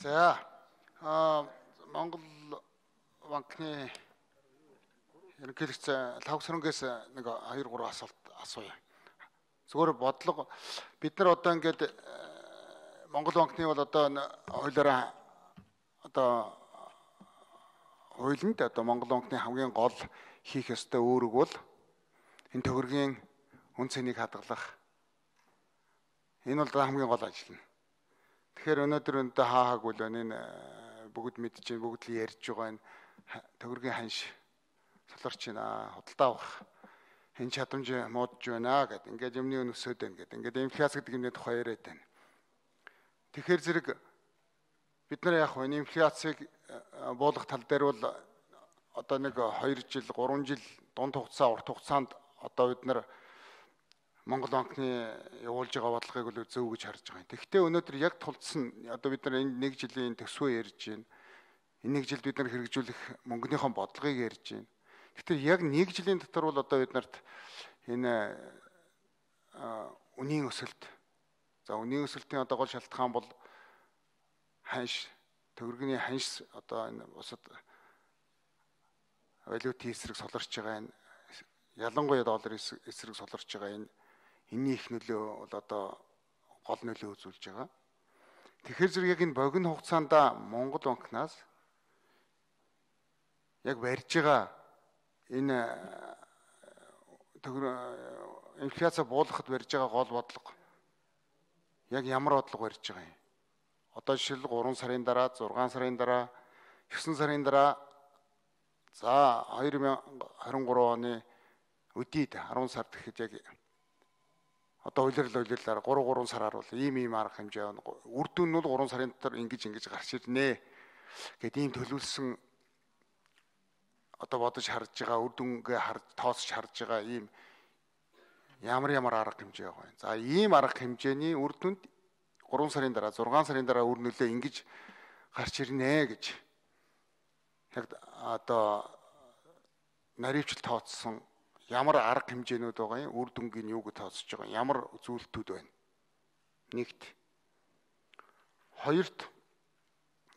За Монгол банкны ерөнхийлөгч Лавсрангээс нэг 2-3 асуулт асууя. Зүгээр бодлого бид нар одоо ингээд Монгол банкны бол одоо хуулиараа одоо хуулинд одоо Монгол банкны хамгийн гол хийх ёстой үүрэг бол энэ төгрөгийн үн цэнийг хадгалах. Энэ бол хамгийн гол ажил нь. Тэгэхээр өнөөдөр өнтө хаагааг үл энэ бүгд мэдчихээн, бүгд л ярьж байгаа энэ төгрөгийн ханш солорч байна, худалдаа авах энэ чадамж муудж байна гэдэг. Ингээд юмны өн өсөд байна гэдэг. Ингээд инфляц гэдэг юмны тухай яриад байна. Тэгэхээр зэрэг бид нар яг энэ инфляцийг буулгах тал дээр бол одоо нэг 2 жил, 3 жил дунд хугацаа, урт хугацаанд одоо бид нар Монгол банкны явуулж байгаа бодлогыг бол зөв гэж харж байгаа юм. Тэгэхдээ өнөөдөр яг тулдсан одоо бид нар энэ 1 жилийн төсвөө ярьж байна. Энэ 1 жилд бид нар хэрэгжүүлэх мөнгөнийхөө бодлогыг ярьж байна. Гэхдээ яг 1 жилийн дотор бол одоо бид нарт энэ үнийн өсөлт. За үнийн өсөлтийн одоо гол шалтгаан бол ханш, төгрөгийн ханш одоо энэ бусад валютын эсрэг солирч байгаа энэ ялангуяа долларын эсрэг солирч байгаа энэ энэний их нөлөө бол одоо гол нөлөө үзүүлж байгаа. Тэгэхээр зэрэг яг энэ богино хугацаанд Монгол банкнаас яг барьж байгаа энэ инфляци буулгахад барьж байгаа гол бодлого яг ямар бодлого барьж байгаа юм? Одоо жишээл 3 сарын дараа, 6 сарын дараа, 9 сарын дараа за 2023 оны өдийд 10 сард гэхэд яг одоо улирлаар 3 сараар бол ийм арга хэмжээ байна. Үр дүн нь бол 3 сарын дотор ингэж гарч ирнэ гэд ийм төлөвлөсөн одоо бодож харж байгаа үр дүнгээ тоосч харж байгаа ийм ямар арга хэмжээ байгаа юм. За ийм арга хэмжээний үр дүнд 3 сарын дараа, 6 сарын дараа үр нөлөө ингэж гарч ирнэ гэж яг одоо наривчлал тооцсон ямар арга хэмжээнүүд байгаа юм, үр дүнгийн юуг тооцож байгаа, ямар зүйлтүүд байна. Нэгт. Хоёрт.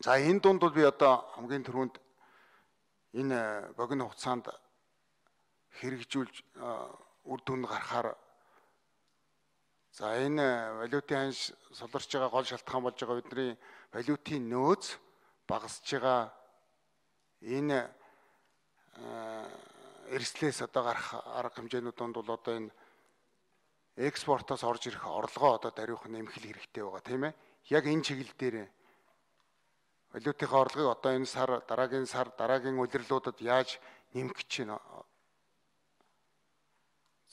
За энэ дунд бол би одоо хамгийн түрүүнд энэ богино хугацаанд хэрэгжүүлж үр дүн гарахаар за энэ валютын ханш солирч байгаа гол шалтгаан болж байгаа бидний валютын нөөц багасж байгаа энэ эрслээс одоо гарах арга хэмжээнүүд донд бол одоо энэ экспортоос орж ирэх орлогоо одоо даруйх нэмэх хэрэгтэй байгаа тийм ээ. Яг энэ чиглэл дээр валютын орлогыг одоо энэ сар, дараагийн улирлуудад яаж нэмэх гэж байна.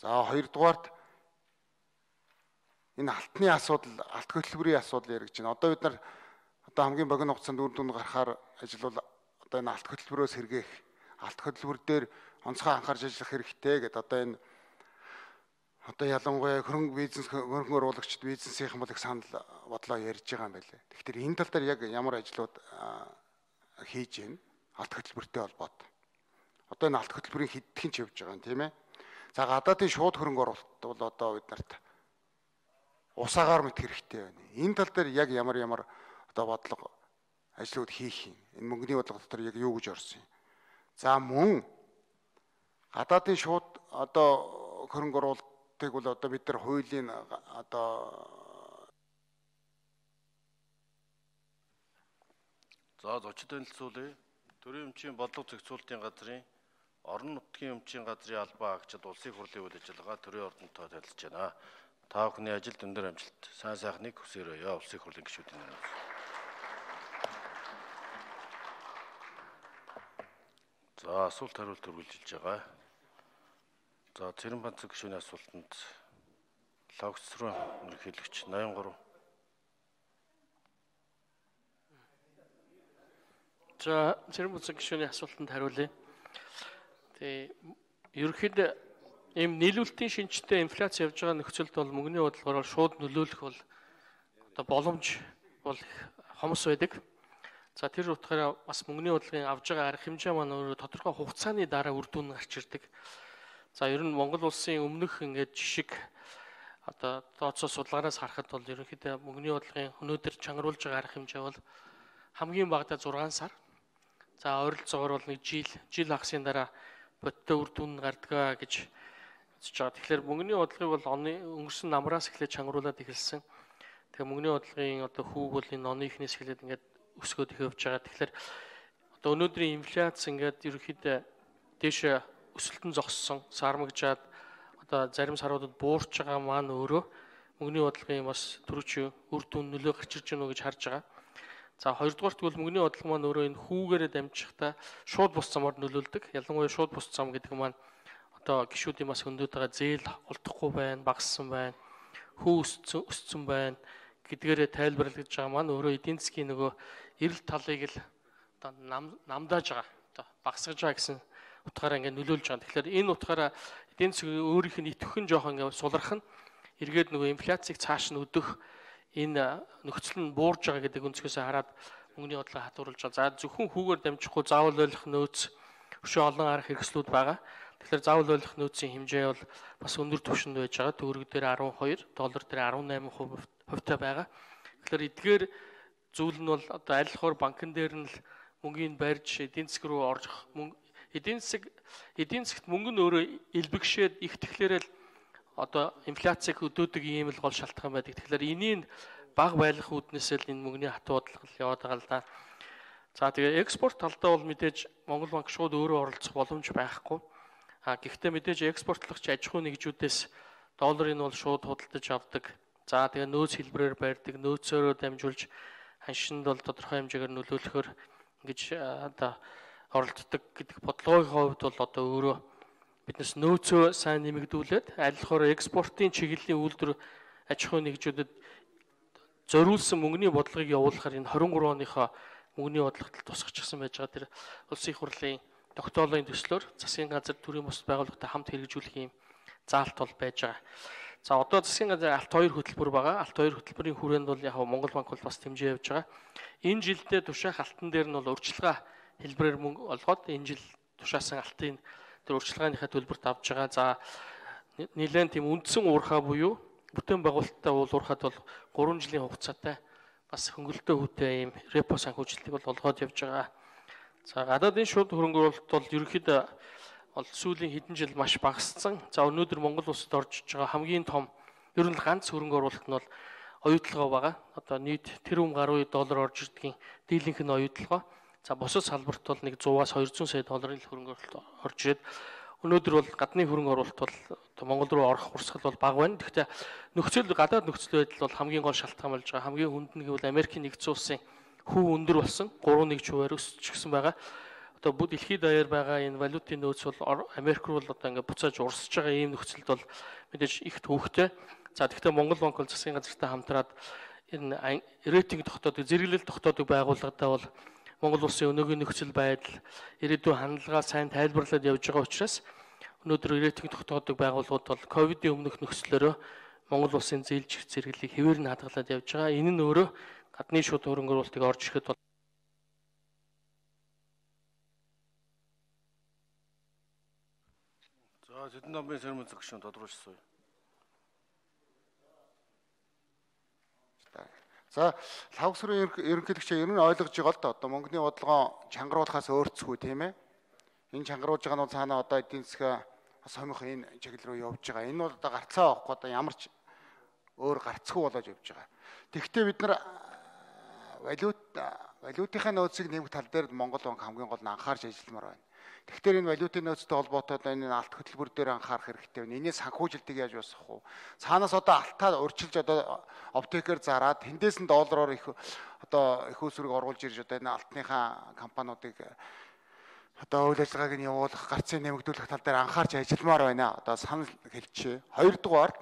За хоёрдугаарт энэ алтны асуудал, алт хөтөлбөрийн асуудал яригдж байна. Одоо бид нар одоо хамгийн богино хугацаанд үр дүн гарахаар ажил бол одоо энэ алт хөтөлбөрөөс сэргээх, алт хөтөлбөр дээр онцгой анхаарч ажиллах хэрэгтэй гэдэг одоо энэ одоо ялангуяа хөрөнгө оруулагчид бизнесийн бол их санал бодлоо ярьж байгаа юм байлээ. Тэгэхээр энэ тал дээр яг ямар ажлууд хийж байна алт хөтөлбөртэй холбоотой. Одоо энэ алт хөтөлбөрийн хэдхэн ч явж байгаа юм тийм ээ. За гадаадын шууд хөрөнгө оруулалт бол одоо бид нарт усаагаар мэт хэрэгтэй байна. Энэ тал дээр яг ямар одоо бодлого ажлууд хийх юм. Энэ мөнгөний бодлого дотор яг юу гэж орсон юм. За мөн гадаадын шууд одоо хөрөнгө оруулалтыг бол одоо бид нар хуулийн одоо за зочид танилцуулъя. Төрийн өмчийн бодлого зохицуулалтын газрын орон нутгийн өмчийн газрын албан агчид улсын хурлын үйл ажиллагаа төрийн ордонтой танилцж байна. Та бүхний ажилд өндөр амжилт, сайн сайхныг хүсээрэй. Улсын хурлын гишүүдийн нэрээр. За асуулт хариулт үргэлжилж байгаа. За Цэрэн банцэг гишүүний асуултанд Лавсран ерөнхийлөгч 83. За Цэрэн банцэг гишүүний асуултанд хариулъя. Тэгээ ерөнхийдөө ийм нийлүүлэлтийн шинжтэй инфляц явж байгаа нөхцөлд бол мөнгөний бодлогоор шууд нөлөөлөх бол одоо боломж бол хомос байдаг. За тэр утгаараа бас мөнгөний бодлогын авж байгаа арга хэмжээ маань өөрөө тодорхой хугацааны дараа үр дүн гарч ирдэг. За ер нь Монгол улсын өмнөх ингээд жишг одоо тооцоо судалгаараас харахад бол ерөнхийдөө мөнгөний бодлогын өнөөдөр чангаруулж байгаа арга хэмжээ бол хамгийн багадаа 6 сар. За ойролцоогоор бол нэг жил хагасны дараа бодиттой үр дүн гардаг гэж үзэж байгаа. Тэгэхээр мөнгөний бодлогыг бол өнгөрсөн намраас эхлээд чангруулад эхэлсэн. Тэгээ мөнгөний бодлогын одоо хүүг бол энэ оны ихнээс эхлээд ингээд өсгөөд их явж байгаа. Тэгэхээр одоо өнөөдрийн инфляц ингээд ерөнхийдөө дээш өсөлтөн зогссон, сармагжаад одоо зарим саруудад буурч байгаа маань өөрөө мөнгөний бодлогын бас төрөч үр дүн нөлөө гарч ирж гэнэ гэж харж байгаа. За хоёрдугаарт бол мөнгөний бодлого маань өөрөө энэ хүүгээрээ дамжихдаа шууд бус замаар нөлөөлдөг. Ялангуяа шууд бус зам гэдэг маань одоо гишүүдийн бас хөндөд байгаа зээл олдохгүй байна, багассан байна, хүү өссөн байна гэдгээрээ тайлбарлаж байгаа маань өөрөө эдийн засгийн нөгөө эрэл талыг л одоо намдааж байгаа. Одоо багасгаж байгаа гэсэн утгаараа ингээд нөлөөлж байгаа. Тэгэхээр энэ утгаараа эдийн засгийн өөрийнх нь идэвхэн жоохон ингээд сулрах нь эргээд нөгөө инфляцийг цааш нь өдөх энэ нөхцөл нь буурж байгаа гэдэг өнцгөөс хараад мөнгөний бодлого хатууруулж байгаа. За зөвхөн хүүгээр дамжихгүй заавал ойлгох нөөц өшөө олон арга хэрэгслүүд байгаа. Тэгэхээр заавал ойлгох нөөцийн хэмжээ бол бас өндөр түвшинд байж байгаа. Төгрөг дээр 12, доллар дээр 18% байгаа. Тэгэхээр эдгээр зүйл нь бол одоо аль хоор банкн дээр нь л мөнгөний барьж эдийн засаг руу орж эдийн засагт мөнгө нь өөрөө элбэгшээд их тэгэхээр л одоо инфляцийг өдөөдөг ийм л гол шалтгаан байдаг. Тэгэхээр энийг бага байлгах үүднээс л энэ мөнгөний хатуу бодлого яваад байгаа л да. За тэгээ экспорт талдаа бол мэдээж Монгол банк шууд өөрөө оролцох боломж байхгүй. Гэхдээ мэдээж экспортлогч аж ахуй нэгжүүдээс долларыг нь бол шууд худалдаж авдаг. За тэгээ нөөц хэлбэрээр барьдаг, нөөцөөрөө дамжуулж ханшинд бол тодорхой хэмжээгээр нөлөөлөхөөр ингэж одоо оролцдог гэдэг бодлогын хувьд бол одоо өөрөө биднес нөөцөө сайн нэмэгдүүлээд аль болохоор экспортын чиглэлийн үйлдвэр аж ахуй нэгжүүдэд зориулсан мөнгөний бодлогыг явуулахаар энэ 23 оныхоо мөнгөний бодлогот тусгачсан байж байгаа. Тэр улсын их хурлын тогтоолын төслөөр засгийн газар төрийн бус байгууллагатай хамт хэрэгжүүлэх юм заалт бол байж байгаа. За одоо засгийн газар алт 2 хөтөлбөр байгаа. Алт 2 хөтөлбөрийн хүрээнд бол яг Монгол банк бол бас хэмжээ явж байгаа. Энэ жилдээ тушаах алтан дээр нь бол урьдчилгаа хэлбэрээр мөнгө олгоод энэ жил тушаасан алтын тэр урьдчилгааныхаа төлбөрт авж байгаа. За нэлээд тийм үндсэн уурхаа буюу бүтээн байгуулалттай уурхад бол 3 жилийн хугацаатай бас хөнгөлөлтөө хүүтэй ийм репо санхүүжилтийг бол олгоод явж байгаа. За гадаадын шууд хөрөнгө оруулалт бол ерөнхийдөө бол сүүлийн хэдэн жил маш багассан. За өнөөдөр Монгол улсад орж иж байгаа хамгийн том ер нь ганц хөрөнгө оруулалт нь бол оюутлогоо байгаа. Одоо нийт тэрбум гаруй доллар орж ирдгийн дийлэнх нь оюутлогоо. За бусад салбарт бол нэг 100-аас 200 сая долларын хөрөнгө оруулалт орж ирээд өнөөдөр бол гадны хөрөнгө оруулалт бол Монгол руу орох урсгал бол бага байна. Гэхдээ нөхцөл гадаад нөхцөл байдал бол хамгийн гол шалтгаан болж байгаа. Хамгийн хүнд нь гэвэл Америкийн нэгдсэн улсын хүү өндөр болсон 3.1%-аар өсчихсэн байгаа. Одоо бүгд дэлхийд даяар байгаа энэ валютын нөөц бол Америк руу бол одоо ингээд буцааж урсж байгаа ийм нөхцөлд бол мэдээж их төвөгтэй. За тэгэхээр Монгол банк бол засгийн газартай хамтраад энэ рейтинг тогтоодог, зэрэглэл тогтоодог байгууллагатай бол Монгол улсын өнөөгийн нөхцөл байдал, ирээдүйн хандлага сайн тайлбарлаад явж байгаа учраас өнөөдөр рейтинг тогтоодог байгууллагууд бол ковидын өмнөх нөхцлөөрөө Монгол улсын зээлжих зэрэглэлийг хэвээр нь хадгалаад явж байгаа. Энэ нь өөрөө гадны шууд хөрөнгө оруулалтыг орж ирэхэд бол за Сэдэн намын сэрмэн зөвшөөрсөн тодруулсан. За лавсрын ерөнхийлөгчөө ер нь ойлгож байгаа л да. Одоо мөнгөний бодлогоо чангаруулахаас өөрчлөхгүй тийм ээ. Энэ чангаруулж байгаа нь бол цаанаа одоо эдийн засгаа сомих энэ чиглэл рүү явж байгаа. Энэ бол одоо гарцаа авахгүй одоо ямар ч өөр гарцгүй болоод явж байгаа. Тэгэхдээ бид нар валютынхаа нөөцийг нэмэх тал дээр Монгол банк хамгийн гол нь анхаарч ажилламаар байна. Тэгэхээр энэ валютын нөөцтэй холбоотой энэ алт хөтөлбөр дээр анхаарах хэрэгтэй байна. Энийг санхүүжилтийг яаж босгох вэ? Цаанаас одоо алтаа урьдчилж одоо оптекээр зараад тэндээс нь доллараар их одоо их усрыг оруулж ирж одоо энэ алтныхаа компаниудыг одоо үйл ажиллагааг нь явуулах, гарцыг нэмэгдүүлэх тал дээр анхаарч ажилламаар байна. Одоо санал хэлчихье. Хоёрдугаар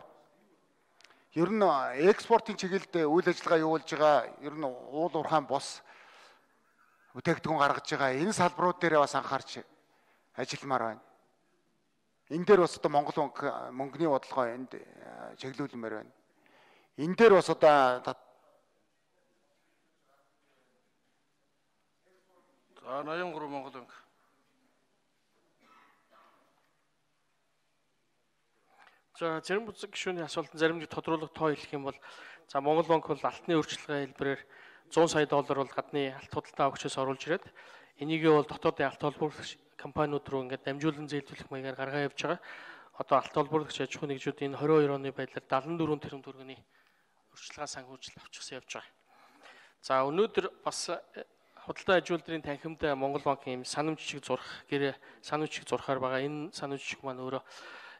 ер нь экспортын чиглэлд үйл ажиллагаа явуулж байгаа ер нь уул уурхайн бос бүтээгдэхүүн гаргаж байгаа энэ салбарууд дээр бас анхаарч ажилламаар байна. Энэ дээр бас одоо Монгол банк мөнгөний бодлогоо энд чиглүүлмээр байна. Энэ дээр бас одоо за 83 Монгол банк. за зарим бүзэг гишүүний асуултанд зарим нэг тодруулах тоо хэлэх юм бол за Монгол банк бол алтны өөрчлөлтийн хэлбэрээр 100 сая доллар бол гадны алт худалдаа авагчаас оруулж ирээд энийгээ бол дотоодын алт холбоолагч компаниуд руу ингээд дамжуулан зээлдүүлэх маягаар гаргаа явж байгаа. Одоо алт холбоолагч аж ахуйн нэгжүүд энэ 22 оны байдлаар 74 тэрбум төгрөгийн урьдчилгаа санхүүжилт авчихсан явж байгаа. За өнөөдөр бас худалдаа ажилуулдрын танхимд Монгол банкын санамж жишг зурх гэр санамж жишг зурхаар байгаа. Энэ санамж жишг маань өөрөө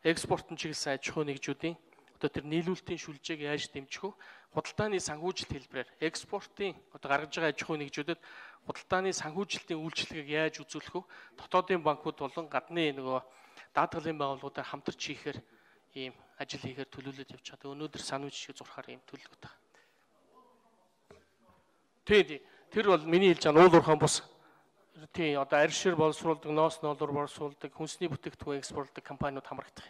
экспортын чиглэсэн аж ахуйн нэгжүүдийн одоо тэр нийлүүлэлтийн шүлжээг яаж дэмжих вэ? Худалдааны санхүүжилт хэлбэрээр экспортын одоо гаргаж байгаа аж ахуйн нэгжүүдэд худалдааны санхүүжилтийн үйлчилгээг яаж үзүүлэх вэ? Дотоодын банкуд болон гадны нөгөө даатгалын байгууллагуудаар хамтарч хийхээр ийм ажил хийхээр төлөвлөж явж байгаа. Өнөөдөр санамж жишг зурхаар ийм төлөвлөгөөтэй. Тэр бол миний хэлж байгаа уул уурхайн бус. Тийм одоо арьшир боловсруулдаг, ноос ноолор боловсруулдаг, хүнсний бүтээгдэхүүн экспортлдог компаниуд хамрагдах.